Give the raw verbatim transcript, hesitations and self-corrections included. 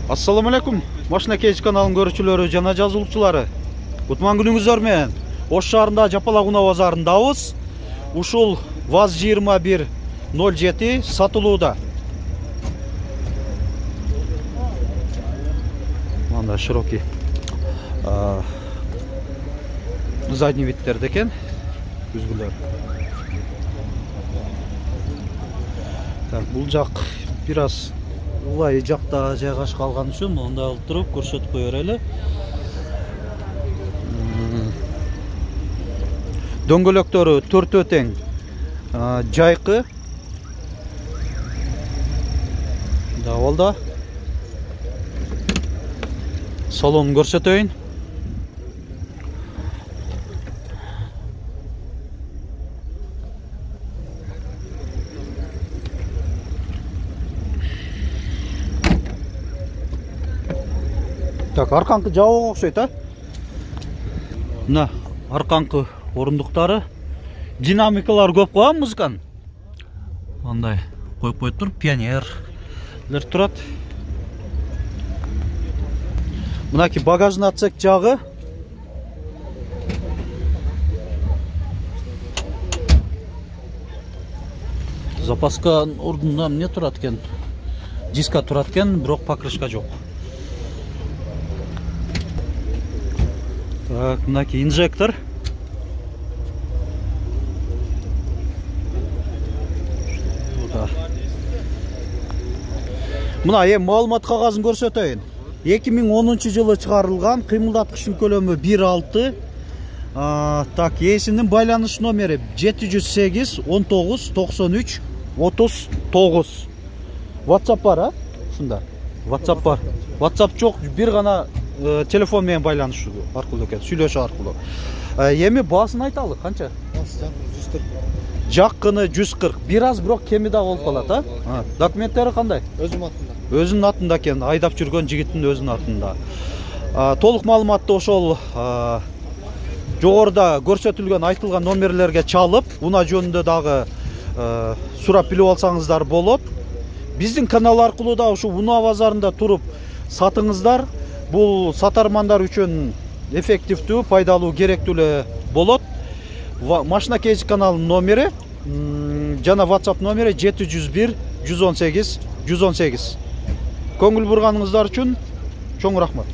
Assalamu alaikum. Машина кейс каналынын көрүүчүлөрү жана жазылуучулары. Кутман күнүңүздөр менен. Ош шаарында Жапалагуна базарындабыз. Ушул ВАЗ жыйырма бир ноль жети сатылууда. Мында широкий задний видтерде экен. Күзгүлөр. Так, бул жак бир аз улай жакта жайгашып калган үчүн мындай алып туруп көрсөтүп кое берели. Дөңгөлөктөрү төртөө тең, жайкы. Давалда. Салонун көрсөтөйүн. Так, арканкы жабууга окшойт, а? Мына арканкы орундуктары, динамикалар көп го музыканын. Мындай коюп коюп туруп, пионерлер турат. Мынаки багажный отсек жагы. Запаска ордунда эмне турат экен? Диска турат экен, бирок покрышка жок. Так, мынаки инжектор. Мына эми маалымат кагазын көрсөтөйүн. эки миң онунчу жылы чыгарылган, кыймылдаткычтын көлөмү бир алты. Так, ээсинин байланыш номери жети жүз сегиз он тогуз токсон үч отуз тогуз. WhatsApp бар, а? Ушунда. WhatsApp бар. WhatsApp жок, бир гана телефон менен байланышуу аркылуу экен, сүйлөшүү аркылуу. Эми баасын айталы, канча? жүз кырк. Жаккыны жүз кырк. Бир аз бирок кеми да болуп калат, а? Документтери кандай? Өзүм атында. Өзүнүн атында экен, айдап жүргөн жигиттин өзүнүн атында. Толук маалыматты ошол жогоруда көрсөтүлгөн айтылган номерлерге чалып, унаа жөнүндө дагы сурап билип алсаңыздар болот. Биздин канал аркылуу да ушу унаа базарында туруп сатыңыздар. Бул сатармандар үчүн эффективдүү, пайдалуу, керектүү эле болот. Машина кейс каналынын номери жана WhatsApp номери жети жүз бир жүз он сегиз жүз он сегиз. Көңүл бурганыңыздар үчүн чоң рахмат.